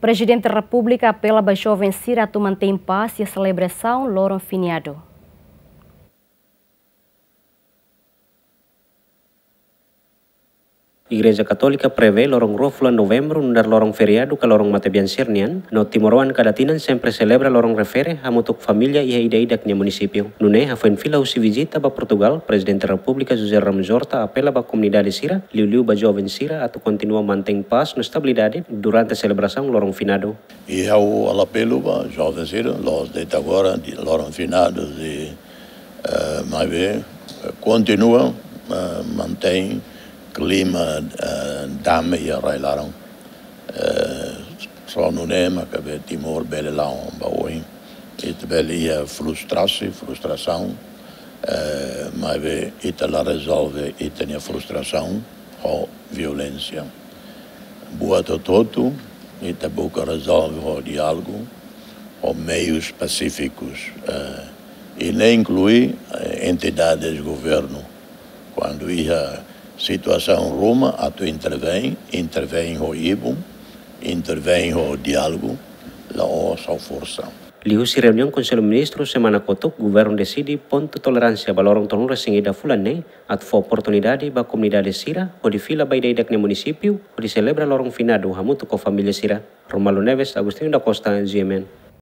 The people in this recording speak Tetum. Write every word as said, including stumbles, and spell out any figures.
Prezidente Repúblika apela ba joven sira atu mantein pás iha selebrasaun loron feriadu. Igreja Katólika prevee loron rua fulan Novembru nu'udar loron feriadu ka loron matebian sira nian, no timoroan kada tinan sempre selebra loron refere hamutuk família iha ida-idak nia munisípiu. Nune'e hafoin fila husi vizita ba Portugal, Prezidente Repúblika José Ramos Horta apela ba komunidade sira, liuliu ba joven sira atu kontinua mantein pás no estabilidade durante selebrasaun loron finadu. I ha'u apela ba joven sira, loos de'it agora, di loron finadu, di, eh, maibé, eh, kontinua, eh, mantein klima, eh, dame iha rai-laran. Eh, só nune'e mak Timor bele la'o ba oin. Ita bele iha frustrasaun, frustrasaun, eh, maibé ita la rezolve ita-nia frustrasaun ho violénsia. Buat hotu-hotu, ita buka rezolve ho diálogu, ho meius pasífikus, eh, i ne'e inklui, eh, entidades governu. Kuandu iha situasaun ruma atu intervein, intervein ho ibun, intervein ho diálogu, la'ós ho forsa. Liuhusi reuniaun Konsellu Ministru semana kotuk, governu deside pontu toleránsia ba loron tolunulu-resin-ida fulan ne'e, atu fó oportunidade ba komunidade sira hodi fila ba ida-idak nia munisípiu, hodi selebra loron finadu hamutuk ho família sira. Romualdo Neves, Agostinho da Costa, G M N.